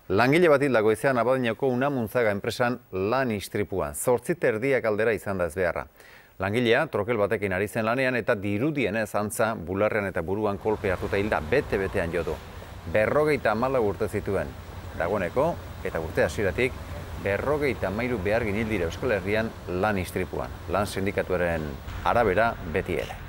Langile bat hil da goizean Abadiñoko Unamuntzaga enpresan lan istripuan. 8:30 aldera izan da ezbeharra. Langilea trokel batekin ari zen lanean eta dirudienez antza bularrean eta buruan kolpe hartuta hilda bete-betean jo du. 54 urte zituen. Dagoeneko eta urte hasieratik 53 behargin hil dira Euskal Herrian lan istripuan. Lan sindikatuaren arabera beti ere.